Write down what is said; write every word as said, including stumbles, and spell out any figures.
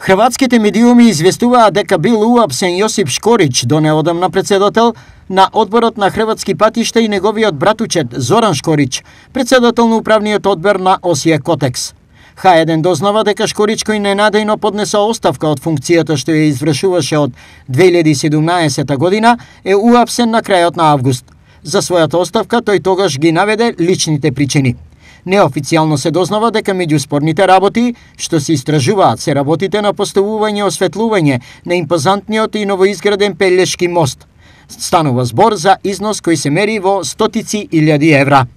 Хрватските медиуми известуваат дека бил уапсен Јосип Шкорич, донеодамна председател на одборот на Хрватски патишта, и неговиот братучет Зоран Шкорич, председател на управниот одбор на Осија Котекс. Ха еден дознава дека Шкорич, кој ненадејно поднесо оставка од функцијата што ја извршуваше од две илјади и седумнаесета година, е уапсен на крајот на август. За својата оставка тој тогаш ги наведе личните причини. Неофицијално се дознава дека меѓу спорните работи што се истражуваат се работите на поставување и осветлување на импозантниот и новоизграден Пелешки мост. Станува збор за износ кој се мери во стотици илјади евра.